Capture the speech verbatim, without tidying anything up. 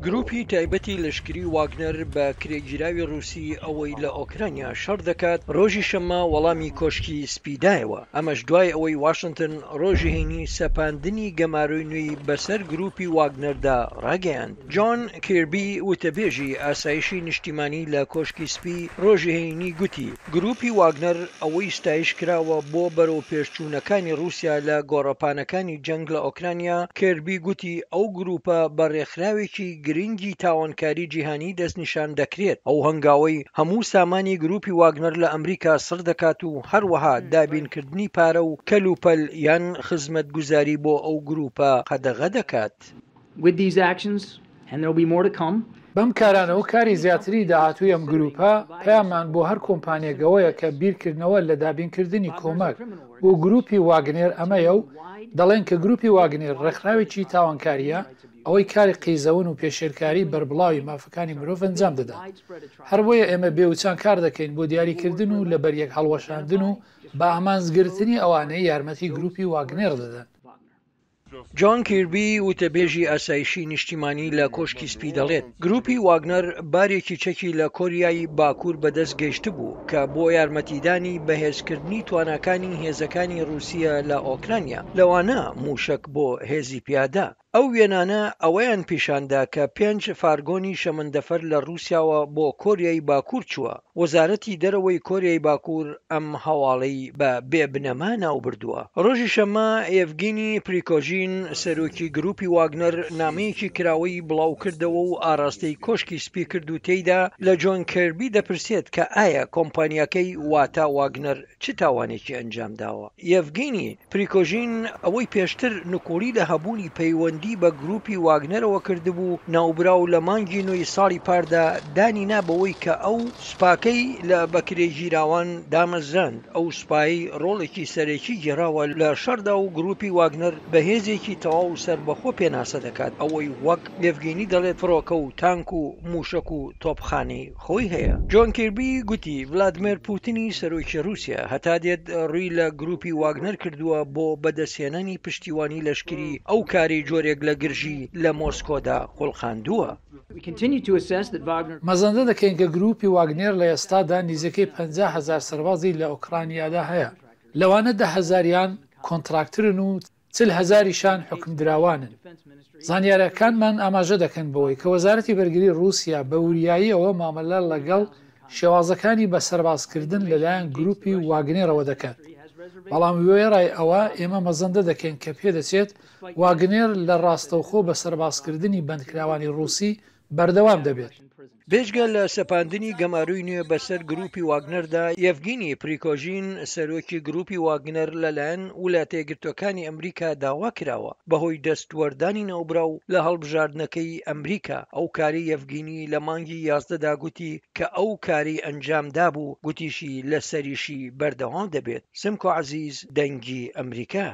گروپی تایبەتی لەشکری واگنەر بە کرێگیراوی ڕووسی ئەوەی لە ئۆکرانیا شەڕ دەکات، ڕۆژی شەممە وەڵامی کۆشکی سپی دایەوە، ئەمەش دوای ئەوەی واشنتن ڕۆژی هەینی سەپاندنی گەمارۆی نوێی بەسەر گروپی واگنەردا ڕاگەیاند. جۆن کیربی وتەبێژی ئاسایشی نیشتیمانی لە کۆشکی سپی ڕۆژی هەینی گوتی گروپی واگنەر ئەوەی ستایش کراوە بۆ بەرەوپێشچوونەکانی ڕووسیا لە گۆڕەپانەکانی جەنگ لە ئۆکرانیا. کێربی گوتی ئەو گروپە بە ڕێکخراوێکی گرنگی تاوانکاری جیهانی دەستنیشان دەکرێت. ئەو هەنگاوەی هەموو سامانی گروپی واگنەر لە ئەمریکا سڕ دەکات و هەروەها دابینکردنی پارە و کەلوپەل یان خزمەتگوزاری بۆ ئەو گروپە قەدەغە دەکات. With these actions, and there will be more to come. بەم کارانە و کاری زیاتری داهاتووی ئەم گروپە، پەیاممان بۆ هەر کۆمپانییەک ئەوەیە کە بیرکردنەوە لە دابینکردنی کۆمەک بۆ گروپی واگنێر ئەمەیە و دەڵێن کە گروپی واگنێر ڕێکخراوێکی تاوانکارییە ئەوەی کاری قیزەون و پێشێلکاری بەربڵاوی مافەکانی مرۆڤ ئەنجام دەدات. هەر بۆیە ئێمە بێوچان کار دەکەین بۆ دیاریکردن و لەبەریەک هەڵوەشاندن و بە ئامانجگرتنی ئەوانەی یارمەتی گروپی واگنێر دەدەن. جۆن کیربی وتەبێژی ئاسایشی نیشتیمانی لە کۆشکی سپی دەڵێت گروپی واگنەر بارێکی چەکی لە کۆریای باکوور بەدەست گەیشتبوو کە بۆ یارمەتیدانی بەهێزکردنی تواناکانی هێزەکانی ڕووسیا لە ئۆکرانیا، لەوانە موشک بۆ هێزی پیادە. ئەو وێنانە ئەوەیان پیشاندا کە پێنج فارگۆنی شەمەندەفەر لە ڕووسیاوە بۆ کۆریای باکوور چووە. وەزارەتی دەرەوەی کۆریای باکوور ئەم هەواڵەی بە بێبنەما ناوبردووە. ڕۆژی شەممە یەڤگینی پریکۆژین سەرۆکی گروپی واگنەر نامەیەکی کراوەی بڵاوکردەوە و ئاراستەی کۆشکی سپی کرد و تێیدا لە جۆن کێربی دەپرسێت کە ئایا کۆمپانیاکەی واتا واگنەر چ تاوانێکی ئەنجام داوە. یەڤگینی پریکۆژین ئەوەی پێشتر نکوڵی لە هەبوونی پەیوەندی بە گروپی واگنەرەوە کردبوو، ناوبراو لە مانگی نۆی ساڵی پاردا دانی نا بەوەی کە ئەو سوپاکەی لە بەکرێگیراوان دامەزراند. ئەو سوپای ڕۆڵێکی سەرەکی گێڕاوە لە شەڕدا و گروپی واگنەر بە هێزێکی تەواو سەربەخۆ پێناسە دەکات، ئەوەی وەک یەڤگینی دەڵێت فڕۆکە و تانک و موشک و تۆپخانەی خۆی هەیە. جۆن کیربی گوتی ڤلادیمێر پوتینی سەرۆکی ڕووسیا هەتا دێت ڕووی لە گروپی واگنەر کردووە بۆ بەدەستهێنانی پشتیوانی لەشکری، ئەو کاری جۆرێک لە گرژی لە مۆسکۆدا خوڵقاندووە. مەزەندە دەکەین کە گروپی واگنێر لە ئێستادا نزیکەی پەنجا هەزار سەربازی لە ئۆکرانیادا هەیە، لەوانە دە هەزاریان کۆنتراکترن و چل هەزاریشان حوکمدراوانن. زانیاریەکانمان ئاماژە دەکەن بەوەی کە وەزارەتی بەرگری ڕووسیا بە وریاییەوە مامەلە لەگەڵ شێوازەکانی بە سەربازکردن لەلایەن گروپی واگنێرەوە دەکات. بەڵام وێڕای ئەوە ئێمە مەزەندە دەکەین کە پێدەچێت واگنێر لە ڕاستەوخۆ بە سەربازکردنی بەندکراوانی ڕووسی بەردەوام دەبێت. بێجگە لە سەپاندنی گەمارۆی نوێ بەسەر گروپی واگنەردا، یەڤگینی پریکۆژین سەرۆکی گروپی واگنەر لەلایەن وڵاتە یەکگرتووەکانی ئەمریکا داوا کراوە بەهۆی دەستوەردانی ناوبراو لە هەڵبژاردنەکەی ئەمریکا. ئەو کاری یەڤگینی لە مانگی یازدەدا گوتی کە ئەو کاری ئەنجام دابوو، گوتیشی لەسەریشی بەردەوام دەبێت. سمکۆ عەزیز، دەنگی ئەمریکا.